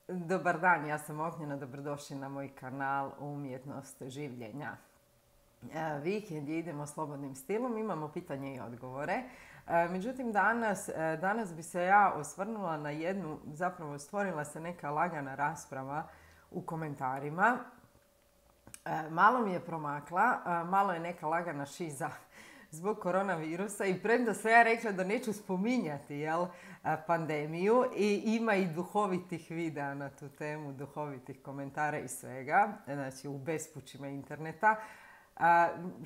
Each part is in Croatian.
Dobar dan, ja sam Ognjena, dobrodošli na moj kanal Umjetnost življenja. Vikend je, idemo slobodnim stilom, imamo pitanje i odgovore. Međutim, danas bi se ja osvrnula na jednu, zapravo stvorila se neka lagana rasprava u komentarima. Malo mi je promakla, malo je neka lagana šiza zbog koronavirusa i premda sam ja rekla da neću spominjati pandemiju i ima i duhovitih videa na tu temu, duhovitih komentara i svega, znači u bespućima interneta.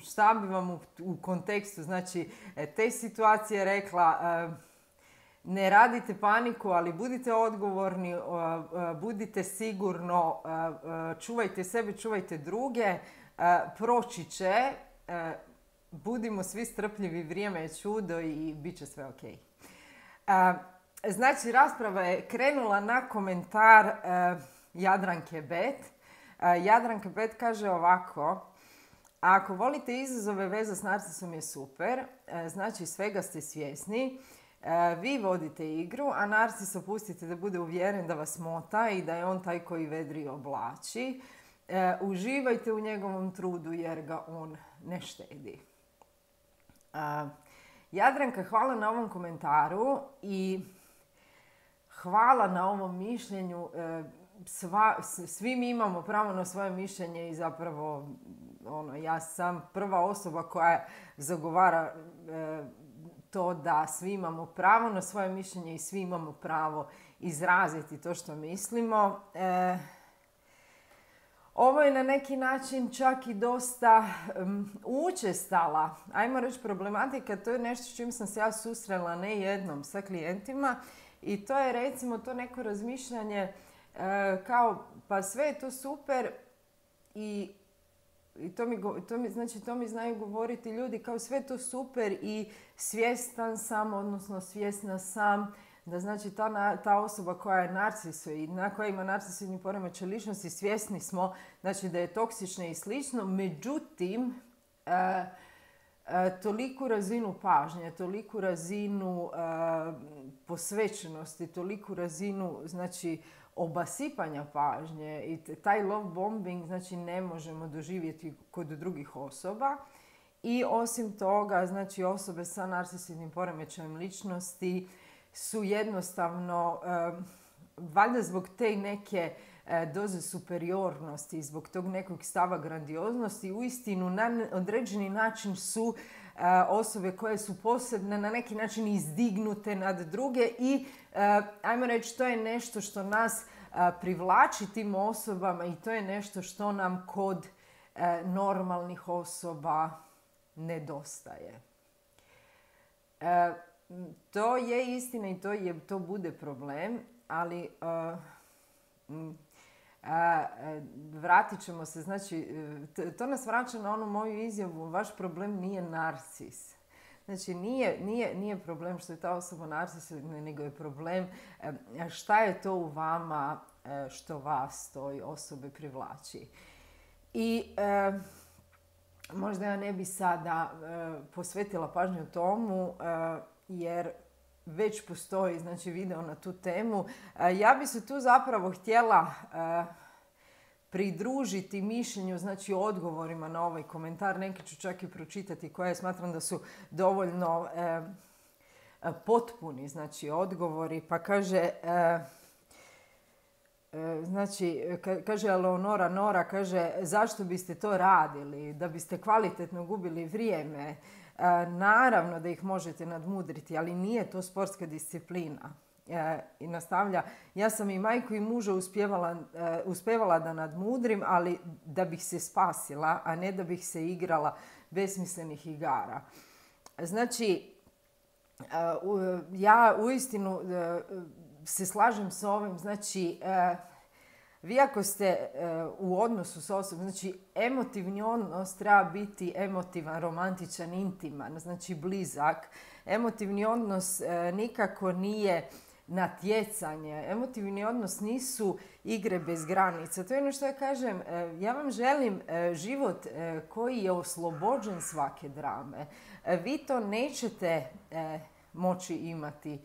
Šta bi vam u kontekstu znači, te situacije rekla, ne radite paniku, ali budite odgovorni, budite sigurno, čuvajte sebe, čuvajte druge, proći će, budimo svi strpljivi, vrijeme je čudo i bit će sve ok. Znači, rasprava je krenula na komentar Jadranke Bet. Jadranka Bet kaže ovako: ako volite izazove, veza s narcisom je super, znači svega ste svjesni, vi vodite igru, a narcis opustite da bude uvjeren da vas mota i da je on taj koji vedri i oblači. Uživajte u njegovom trudu jer ga on ne štedi. Jadranka, hvala na ovom komentaru i hvala na ovom mišljenju. Svi mi imamo pravo na svoje mišljenje i zapravo ja sam prva osoba koja zagovara to da svi imamo pravo na svoje mišljenje i svi imamo pravo izraziti to što mislimo. Ovo je na neki način čak i dosta učestala, ajmo reći, problematika. To je nešto s čim sam se ja susrela ne jednom sa klijentima i to je recimo to neko razmišljanje kao pa sve je to super i to mi znaju govoriti ljudi kao sve je to super i svjestan sam, odnosno svjesna sam da znači ta osoba koja je koja ima narcisoidni poremećaj ličnosti, svjesni smo znači da je toksična i slično, međutim toliku razinu pažnje, toliku razinu posvećenosti, toliku razinu znači obasipanja pažnje i taj love bombing znači ne možemo doživjeti kod drugih osoba. I osim toga, znači osobe sa narcisoidnim poremećajem ličnosti su jednostavno, valjda zbog te neke doze superiornosti, zbog tog nekog stava grandioznosti, uistinu na određeni način su osobe koje su posebne, na neki način izdignute nad druge i ajmo reći, to je nešto što nas privlači tim osobama i to je nešto što nam kod normalnih osoba nedostaje. To je istina i to bude problem, ali vratit ćemo se, znači, to nas vraća na onu moju izjavu, vaš problem nije narcis. Znači, nije problem što je ta osoba narcisoidna, nego je problem šta je to u vama što vas toj osobe privlači. I možda ja ne bi sada posvetila pažnju tomu, jer već postoji znači, video na tu temu. Ja bi se tu zapravo htjela pridružiti mišljenju, znači odgovorima na ovaj komentar. Neki ću čak i pročitati koje smatram da su dovoljno potpuni, znači odgovori. Pa kaže, kaže Eleonora Nora, kaže, zašto biste to radili? Da biste kvalitetno gubili vrijeme. Naravno da ih možete nadmudriti, ali nije to sportska disciplina. I nastavlja, ja sam i majku i muža uspjevala da nadmudrim, ali da bih se spasila, a ne da bih se igrala besmislenih igara. Znači, ja uistinu se slažem s ovim, znači, vi ako ste u odnosu s osobom, znači emotivni odnos treba biti emotivan, romantičan, intiman, znači blizak. Emotivni odnos nikako nije natjecanje. Emotivni odnos nisu igre bez granica. To je ono što ja kažem. Ja vam želim život koji je oslobođen svake drame. Vi to nećete moći imati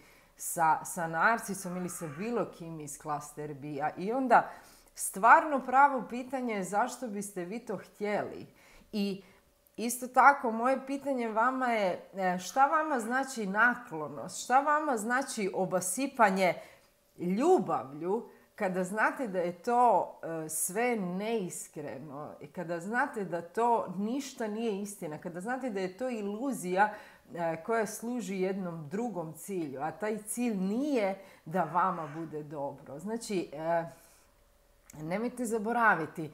sa narcisom ili sa bilo kim iz klaster B-a. I onda stvarno pravo pitanje je zašto biste vi to htjeli. I isto tako, moje pitanje vama je šta vama znači naklonost, šta vama znači obasipanje ljubavlju kada znate da je to sve neiskreno i kada znate da to ništa nije istina, kada znate da je to iluzija koja služi jednom drugom cilju, a taj cilj nije da vama bude dobro. Znači, nemojte zaboraviti,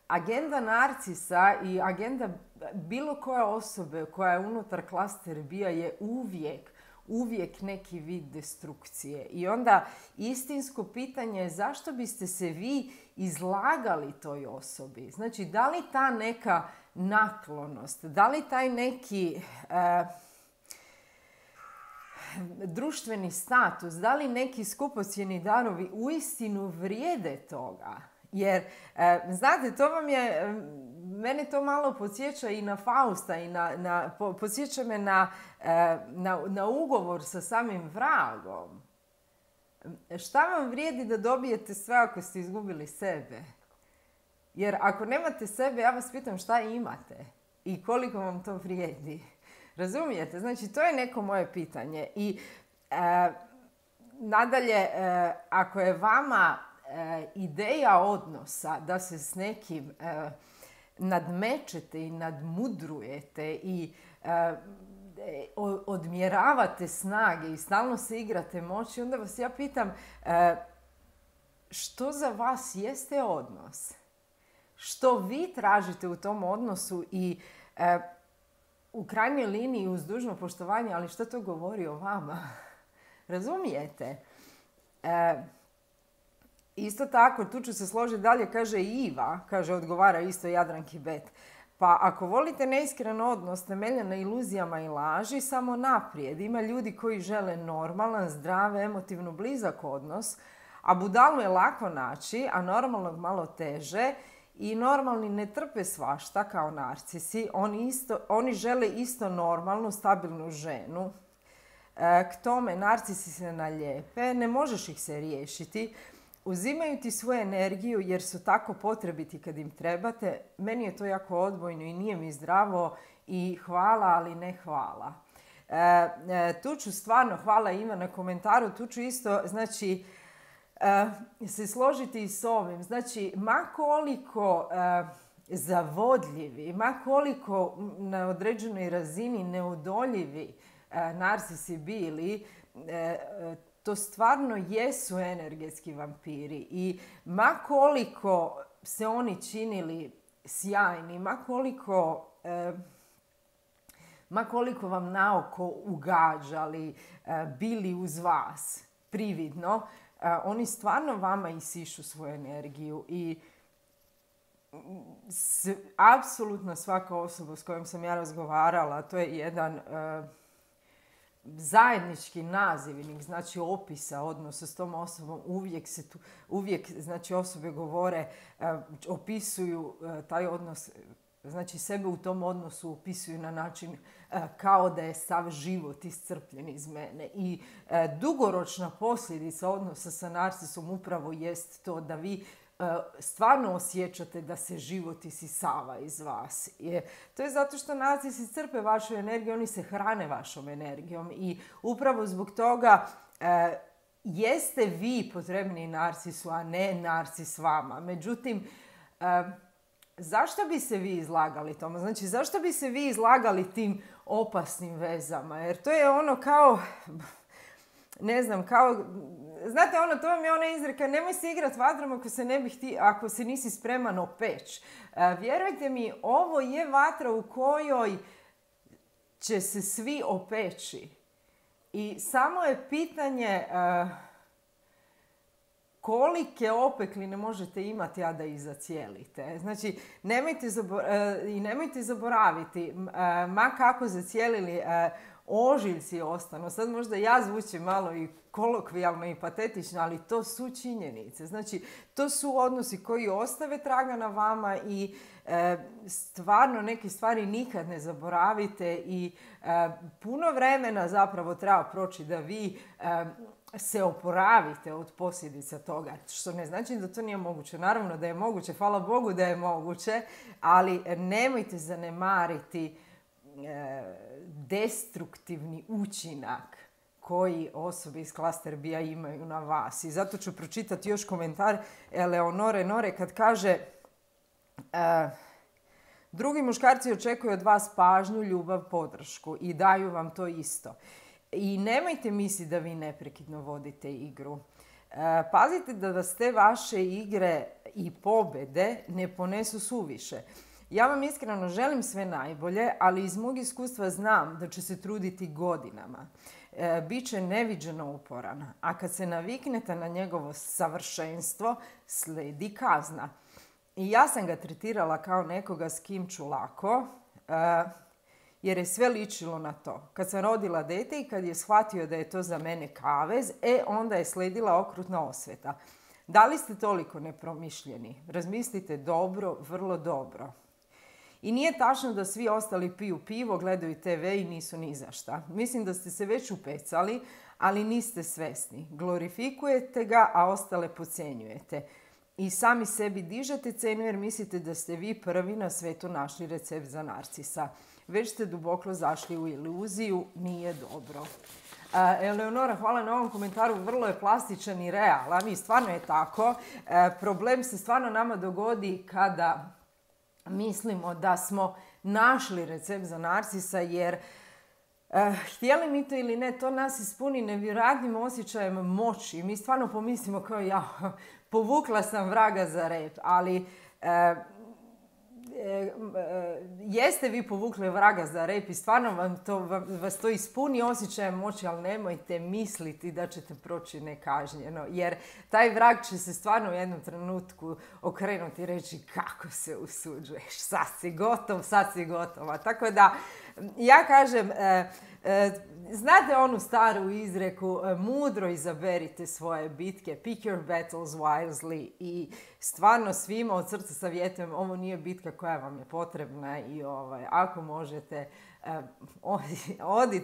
agenda narcisa i agenda bilo koje osobe koja je unutar klaster B-a je uvijek neki vid destrukcije. I onda istinsko pitanje je zašto biste se vi izlagali toj osobi? Znači, da li ta neka naklonost, da li taj neki društveni status, da li neki skupocjeni darovi uistinu vrijede toga? Jer, znate, to vam je, mene to malo podsjeća i na Fausta i podsjeća me na ugovor sa samim vragom. Šta vam vrijedi da dobijete sve ako ste izgubili sebe? Jer ako nemate sebe, ja vas pitam šta imate i koliko vam to vrijedi. Razumijete? Znači, to je neko moje pitanje. I nadalje, ako je vama ideja odnosa da se s nekim nadmećete i nadmudrujete i odmjeravate snage i stalno se igrate moći, onda vas ja pitam što za vas jeste odnos? Što vi tražite u tom odnosu i u krajnjoj liniji uz dužno poštovanje, ali što to govori o vama? Razumijete? Isto tako, tu ću se složiti dalje, kaže Iva, odgovara isto Jadranki Bet. Pa ako volite neiskren odnos temeljen na iluzijama i laži, samo naprijed. Ima ljudi koji žele normalan, zdrav, emotivno blizak odnos, a budalu je lako naći, a normalnog malo teže. I normalni ne trpe svašta kao narcisi. Oni žele isto normalnu, stabilnu ženu. K tome narcisi se naljepe, ne možeš ih se riješiti. Uzimaju ti svoju energiju jer su tako potrebiti kad im trebate. Meni je to jako odbojno i nije mi zdravo i hvala, ali ne hvala. Tu ću stvarno, hvala Iva na komentaru, tu ću isto, znači, se složiti i s ovim. Znači, ma koliko zavodljivi, ma koliko na određenoj razini neodoljivi narcisi bili, to stvarno jesu energetski vampiri. I ma koliko se oni činili sjajni, ma koliko vam naoko ugađali, bili uz vas prividno, oni stvarno vama isišu svoju energiju i apsolutno svaka osoba s kojom sam ja razgovarala, to je jedan zajednički nazivnik, znači opisa odnosa s tom osobom. Uvijek znači osobe govore, opisuju taj odnos, znači sebe u tom odnosu opisuju na način kao da je sav život iscrpljen iz mene. I dugoročna posljedica odnosa sa narcisom upravo jest to da vi stvarno osjećate da se život isisava iz vas. To je zato što narcisi crpe vašu energiju, oni se hrane vašom energijom i upravo zbog toga jeste vi potrebni narcisu, a ne narcis vama. Međutim, zašto bi se vi izlagali tome? Znači, zašto bi se vi izlagali tim opasnim vezama? Jer to je ono kao, ne znam, kao, znate ono, to vam je ona izreka, nemoj se igrati vatrom ako se nisi spreman opeć. Vjerujte mi, ovo je vatra u kojoj će se svi opeći. I samo je pitanje kolike opekline možete imati, a da ih zacijelite. Znači, nemojte zaboraviti, ma kako zacijelili ožiljci ostanu. Sad možda ja zvučim malo i kolokvijalno i patetično, ali to su činjenice. Znači, to su odnosi koji ostave traga na vama i stvarno neke stvari nikad ne zaboravite i puno vremena zapravo treba proći da vi se oporavite od posljedica toga, što ne znači da to nije moguće. Naravno da je moguće, hvala Bogu da je moguće, ali nemojte zanemariti destruktivni učinak koji osobe iz klaster B-a imaju na vas. I zato ću pročitati još komentar Eleonore Nore kad kaže drugi muškarci očekuju od vas pažnju, ljubav, podršku i daju vam to isto. I nemojte misliti da vi neprekidno vodite igru. Pazite da vas te vaše igre i pobjede ne ponesu suviše. Ja vam iskreno želim sve najbolje, ali iz mog iskustva znam da će se truditi godinama. Biće neviđeno uporan, a kad se naviknete na njegovo savršenstvo, slijedi kazna. I ja sam ga tretirala kao nekoga s kim ću lako, jer je sve ličilo na to. Kad sam rodila dete i kad je shvatio da je to za mene kavez, onda je slijedila okrutna osveta. Da li ste toliko nepromišljeni? Razmislite dobro, vrlo dobro. I nije tačno da svi ostali piju pivo, gledaju TV i nisu ni za šta. Mislim da ste se već upecali, ali niste svesni. Glorifikujete ga, a ostale podcjenjujete. I sami sebi dižete cenu jer mislite da ste vi prvi na svijetu našli recept za narcisa. Već ste duboko zašli u iluziju, nije dobro. Eleonora, hvala na ovom komentaru, vrlo je plastičan i realan i stvarno je tako. Problem se stvarno nama dogodi kada mislimo da smo našli recept za narcisa jer htjeli mi to ili ne, to nas ispuni nevjerojatnim osjećajem moći. Mi stvarno pomislimo kao ja, povukla sam vraga za rep, ali jeste vi povukli vraga za rep i stvarno vas to ispuni osjećajem moći, ali nemojte misliti da ćete proći nekažnjeno, jer taj vrag će se stvarno u jednom trenutku okrenuti i reći kako se usuđuješ, sad si gotova. Tako da ja kažem, znate onu staru izreku, mudro izaberite svoje bitke, pick your battles wisely, i stvarno svima od srca savjetujem, ovo nije bitka koja vam je potrebna i ako možete,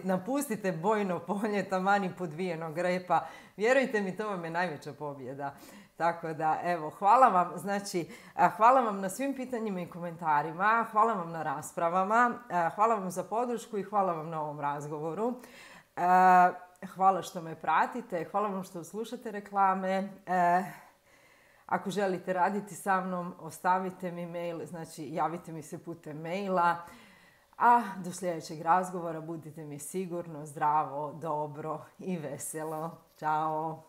napustite bojno polje taman i podvijenog repa. Vjerujte mi, to vam je najveća pobjeda. Tako da, evo, hvala vam, hvala vam na svim pitanjima i komentarima, hvala vam na raspravama, hvala vam za podršku i hvala vam na ovom razgovoru. Hvala što me pratite, hvala vam što slušate reklame. Ako želite raditi sa mnom, ostavite mi mail, javite mi se putem maila. A do sljedećeg razgovora budite mi sigurno, zdravo, dobro i veselo. Ćao!